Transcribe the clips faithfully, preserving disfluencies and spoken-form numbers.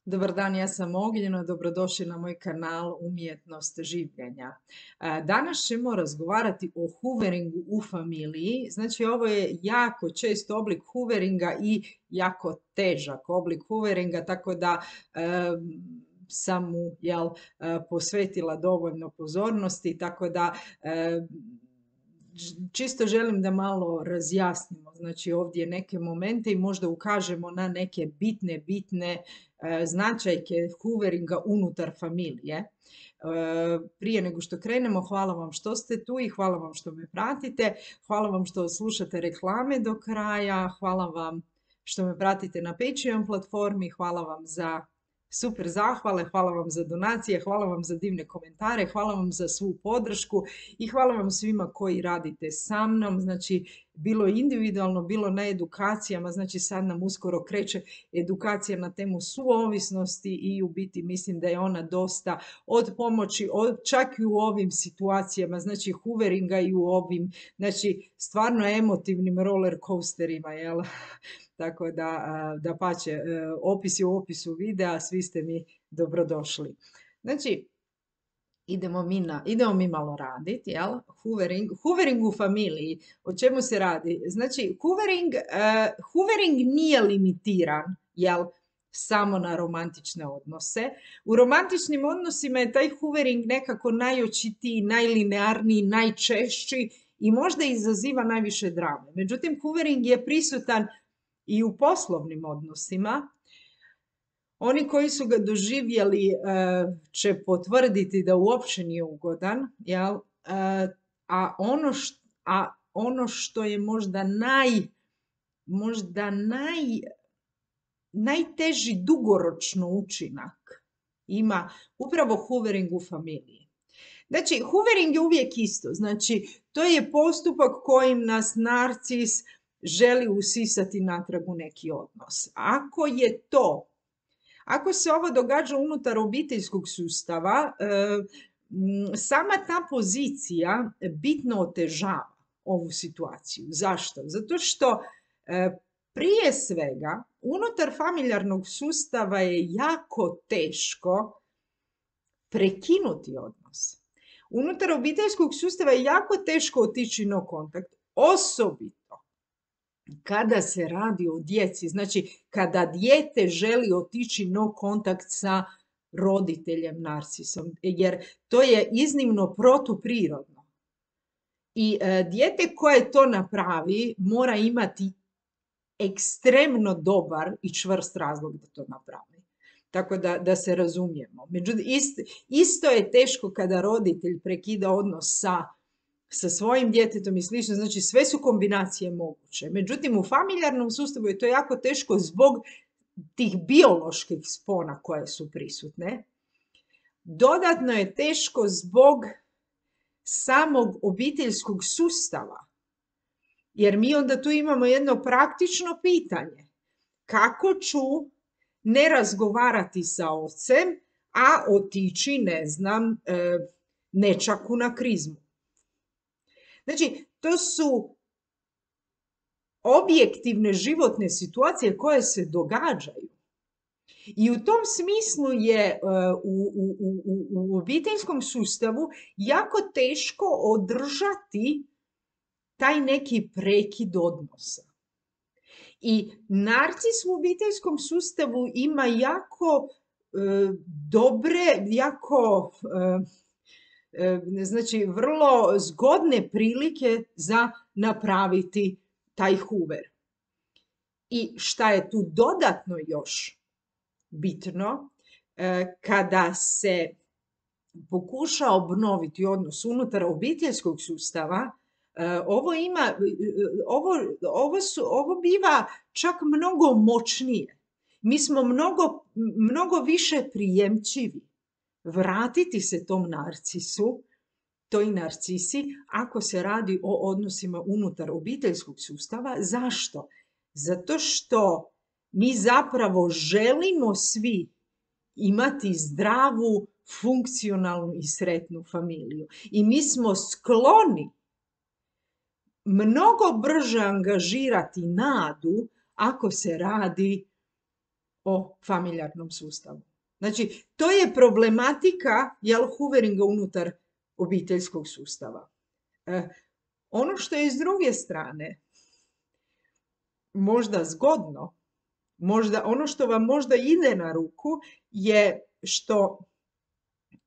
Dobar dan, ja sam Ognjena, dobrodošli na moj kanal Umjetnost življenja. E, Danas ćemo razgovarati o hooveringu u familiji. Znači, ovo je jako čest oblik hooveringa i jako težak oblik hooveringa, tako da e, sam mu jel, e, posvetila dovoljno pozornosti, tako da e, čisto želim da malo razjasnimo znači ovdje neke momente i možda ukažemo na neke bitne, bitne e, značajke hooveringa unutar familije. E, prije nego što krenemo, hvala vam što ste tu i hvala vam što me pratite. Hvala vam što slušate reklame do kraja. Hvala vam što me pratite na Patreon platformi. Hvala vam za super zahvale, hvala vam za donacije, hvala vam za divne komentare, hvala vam za svu podršku i hvala vam svima koji radite sa mnom, znači bilo individualno, bilo na edukacijama, znači sad nam uskoro kreće edukacija na temu suovisnosti i u biti mislim da je ona dosta od pomoći, od, čak i u ovim situacijama, znači hooveringa i u ovim, znači stvarno emotivnim roller coasterima, jel? Tako da, da pače, opis je u opisu videa, svi ste mi dobrodošli. Znači, idemo mi, na, idemo mi malo raditi, jel? Hoovering, hoovering u familiji, o čemu se radi? Znači, hoovering, uh, hoovering nije limitiran, jel? Samo na romantične odnose. U romantičnim odnosima je taj hoovering nekako najočitiji, najlinearniji, najčešći i možda izaziva najviše drame. Međutim, hoovering je prisutan i u poslovnim odnosima. Oni koji su ga doživjeli će potvrditi da uopće nije ugodan, jel? A, ono što, a ono što je možda naj, možda naj, najteži dugoročno učinak ima upravo hoovering u familiji. Znači, hoovering je uvijek isto. Znači, to je postupak kojim nas narcis želi usisati natrag u neki odnos. Ako je to, ako se ovo događa unutar obiteljskog sustava, sama ta pozicija bitno otežava ovu situaciju. Zašto? Zato što prije svega unutar familijarnog sustava je jako teško prekinuti odnos. Unutar obiteljskog sustava je jako teško otići no kontakt, osobito kada se radi o djeci, znači kada dijete želi otići no kontakt sa roditeljem narcisom, jer to je iznimno protuprirodno. I e, dijete koje to napravi mora imati ekstremno dobar i čvrst razlog da to napravi. Tako da, da se razumijemo. Međutim, isto, isto je teško kada roditelj prekida odnos sa sa svojim djetetom i slično, znači sve su kombinacije moguće. Međutim, u familijarnom sustavu je to jako teško zbog tih bioloških spona koje su prisutne. Dodatno je teško zbog samog obiteljskog sustava, jer mi onda tu imamo jedno praktično pitanje. Kako ću ne razgovarati sa ocem, a otići, ne znam, nečaku na krizmu? Znači, to su objektivne životne situacije koje se događaju. I u tom smislu je u, u, u, u obiteljskom sustavu jako teško održati taj neki prekid odnosa. I narcis u obiteljskom sustavu ima jako e, dobre, jako... E, znači vrlo zgodne prilike za napraviti taj hoover. I šta je tu dodatno još bitno, kada se pokuša obnoviti odnos unutar obiteljskog sustava, ovo ima, ovo, ovo, su, ovo biva čak mnogo moćnije. Mi smo mnogo, mnogo više prijemčivi vratiti se tom narcisu, toj narcisi, ako se radi o odnosima unutar obiteljskog sustava. Zašto? Zato što mi zapravo želimo svi imati zdravu, funkcionalnu i sretnu familiju. I mi smo skloni mnogo brže angažirati nadu ako se radi o familijarnom sustavu. Znači, to je problematika, jel, hooveringa unutar obiteljskog sustava. E, ono što je s druge strane možda zgodno, možda, ono što vam možda ide na ruku je što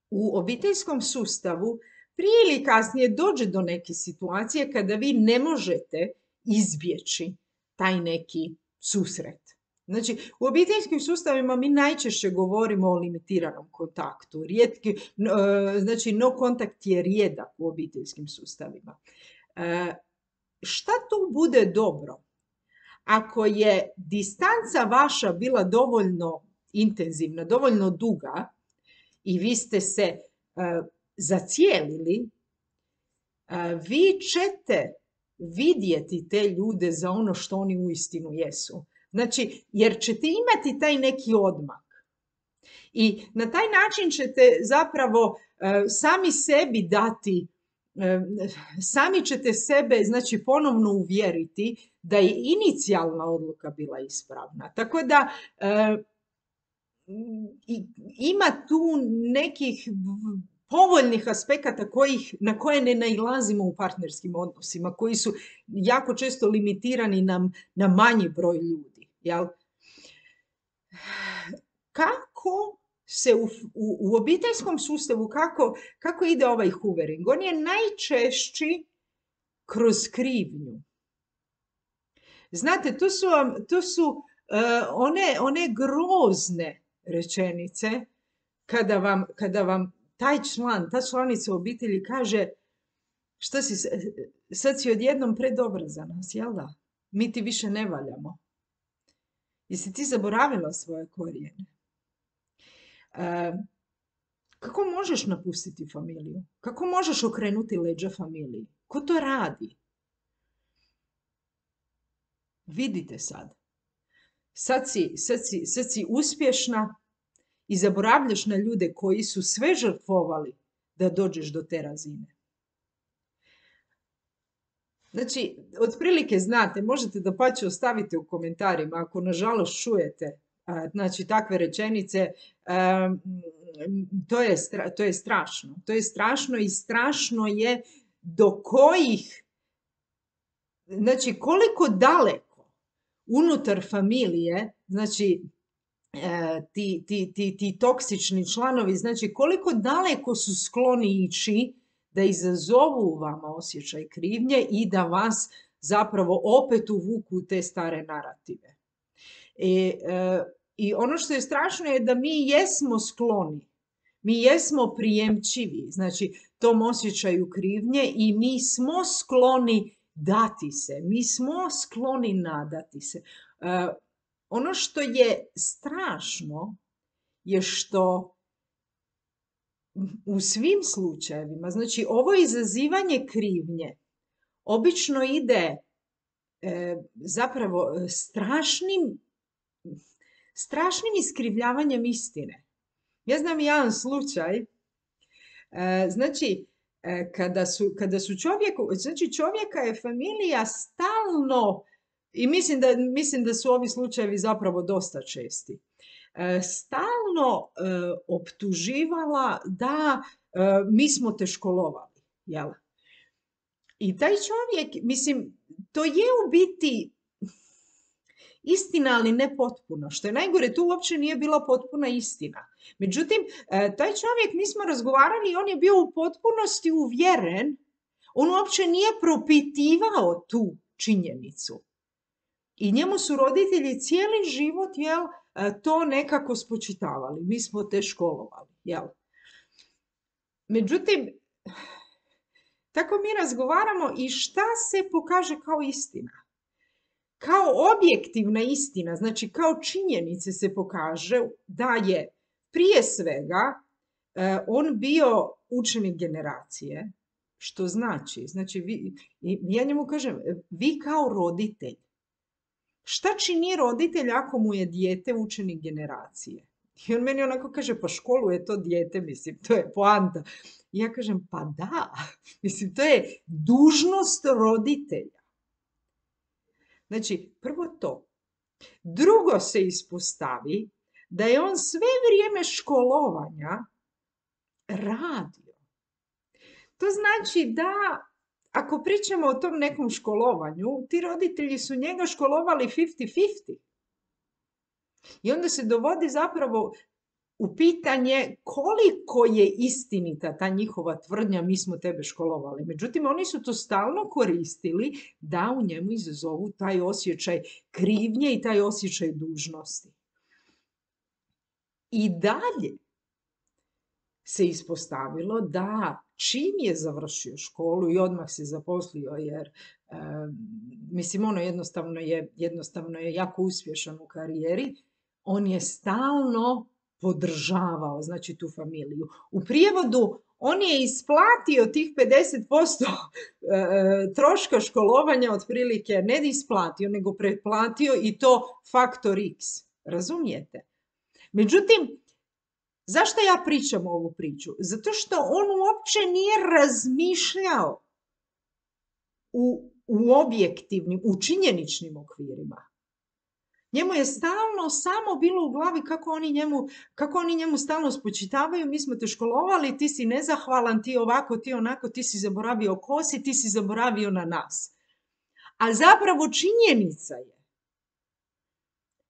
u obiteljskom sustavu prije ili kasnije dođe do neke situacije kada vi ne možete izbjeći taj neki susret. Znači, u obiteljskim sustavima mi najčešće govorimo o limitiranom kontaktu. Rijetki, znači, no kontakt je rijedak u obiteljskim sustavima. E, šta tu bude dobro? Ako je distanca vaša bila dovoljno intenzivna, dovoljno duga i vi ste se e, zacijelili, e, vi ćete vidjeti te ljude za ono što oni uistinu jesu. Znači, jer ćete imati taj neki odmak. I na taj način ćete zapravo e, sami sebi dati, e, sami ćete sebe, znači, ponovno uvjeriti da je inicijalna odluka bila ispravna. Tako da e, ima tu nekih povoljnih aspekata kojih, na koje ne nailazimo u partnerskim odnosima, koji su jako često limitirani na, na manji broj ljudi. Jel? Kako se u, u, u obiteljskom sustavu, kako, kako ide ovaj hoovering? On je najčešći kroz krivnju. Znate, to su, to su uh, one, one grozne rečenice kada vam, kada vam taj član, ta članica obitelji kaže što si, sad si odjednom predobra za nas, jel da? Mi ti više ne valjamo. Jesi ti zaboravila svoje korijene? E, kako možeš napustiti familiju? Kako možeš okrenuti leđa familiji? Ko to radi? Vidite sad. Sad si, sad si, sad si uspješna i zaboravljaš na ljude koji su sve žrtvovali da dođeš do te razine. Znači, otprilike znate, možete da pa će ostavite u komentarima ako nažalost čujete znači takve rečenice, to je, to je strašno. To je strašno i strašno je do kojih, znači koliko daleko unutar familije, znači ti, ti, ti, ti toksični članovi, znači koliko daleko su skloni ići da izazovu u vama osjećaj krivnje i da vas zapravo opet uvuku u te stare narative. I, e, I ono što je strašno je da mi jesmo skloni, mi jesmo prijemčivi, znači tom osjećaju krivnje i mi smo skloni dati se, mi smo skloni nadati se. E, ono što je strašno je što u svim slučajevima, znači ovo izazivanje krivnje obično ide e, zapravo strašnim, strašnim iskrivljavanjem istine. Ja znam jedan slučaj, e, znači e, kada su, kada su čovjeku, znači čovjeka je familija stalno, i mislim da, mislim da su ovi slučajevi zapravo dosta česti, stalno e, optuživala da e, mi smo te školovali. Jel? I taj čovjek, mislim, to je u biti istina, ali ne potpuno. Što je najgore, tu uopće nije bila potpuna istina. Međutim, e, taj čovjek, mi smo razgovarali i on je bio u potpunosti uvjeren, on uopće nije propitivao tu činjenicu. I njemu su roditelji cijeli život, jel, to nekako spočitavali. Mi smo te školovali, jel? Međutim, tako mi razgovaramo i šta se pokaže kao istina? Kao objektivna istina, znači kao činjenice se pokaže da je prije svega on bio učenik generacije, što znači, znači vi, ja njemu kažem, vi kao roditelj, šta čini roditelj ako mu je dijete učenik generacije? I on meni onako kaže, pa školu je to dijete, mislim, to je poanta. I ja kažem, pa da, mislim, to je dužnost roditelja. Znači, prvo to. Drugo se ispostavi da je on sve vrijeme školovanja radio. To znači da, ako pričamo o tom nekom školovanju, ti roditelji su njega školovali fifty fifty. I onda se dovodi zapravo u pitanje koliko je istinita ta njihova tvrdnja mi smo tebe školovali. Međutim, oni su to stalno koristili da u njemu izazovu taj osjećaj krivnje i taj osjećaj dužnosti. I dalje se ispostavilo da čim je završio školu i odmah se zaposlio, jer e, mislim ono jednostavno je, jednostavno je jako uspješan u karijeri, on je stalno podržavao, znači, tu familiju. U prijevodu, on je isplatio tih pedeset posto troška školovanja, otprilike, ne isplatio, nego pretplatio, i to faktor X. Razumijete? Međutim, zašto ja pričam ovu priču? Zato što on uopće nije razmišljao u, u objektivnim, u činjeničnim okvirima. Njemu je stalno samo bilo u glavi kako oni njemu, kako oni njemu stalno spočitavaju, mi smo te školovali, ti si nezahvalan, ti ovako, ti onako, ti si zaboravio ko si, ti si zaboravio na nas. A zapravo činjenica je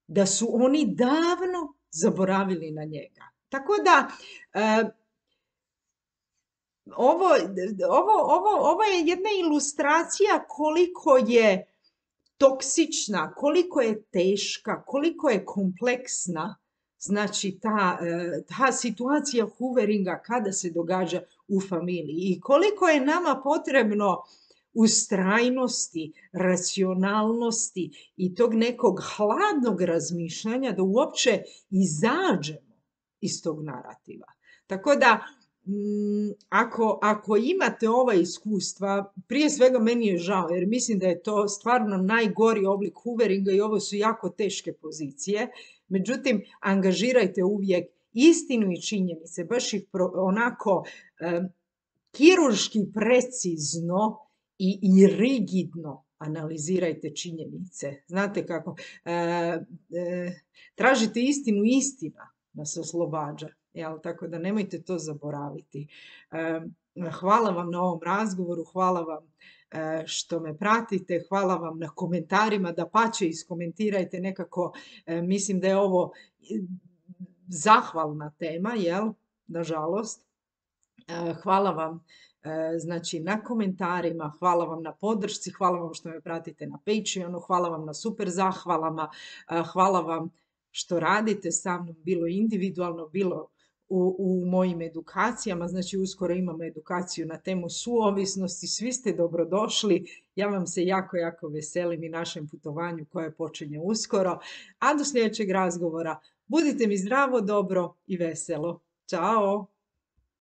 da su oni davno zaboravili na njega. Tako da, e, ovo, ovo, ovo, ovo je jedna ilustracija koliko je toksična, koliko je teška, koliko je kompleksna, znači ta, ta situacija hooveringa kada se događa u familiji i koliko je nama potrebno ustrajnosti, racionalnosti i tog nekog hladnog razmišljanja da uopće izađemo iz tog narativa. Tako da, Ako, ako imate ova iskustva, prije svega meni je žao, jer mislim da je to stvarno najgori oblik hooveringa i ovo su jako teške pozicije. Međutim, angažirajte uvijek istinu i činjenice, baš ih pro, onako eh, kirurški precizno i, i rigidno analizirajte činjenice. Znate kako? Eh, eh, tražite istinu, istina nas oslobađa. Jel, tako da nemojte to zaboraviti. Hvala vam na ovom razgovoru, hvala vam što me pratite, hvala vam na komentarima, dapače iskomentirajte nekako, mislim da je ovo zahvalna tema, jel, nažalost. Hvala vam znači na komentarima, hvala vam na podršci, hvala vam što me pratite na Patreonu, hvala vam na super zahvalama, hvala vam što radite sa mnom, bilo individualno, bilo U, u mojim edukacijama, znači uskoro imamo edukaciju na temu suovisnosti, svi ste dobrodošli, ja vam se jako, jako veselim i našem putovanju koje počinje uskoro, a do sljedećeg razgovora budite mi zdravo, dobro i veselo. Ćao!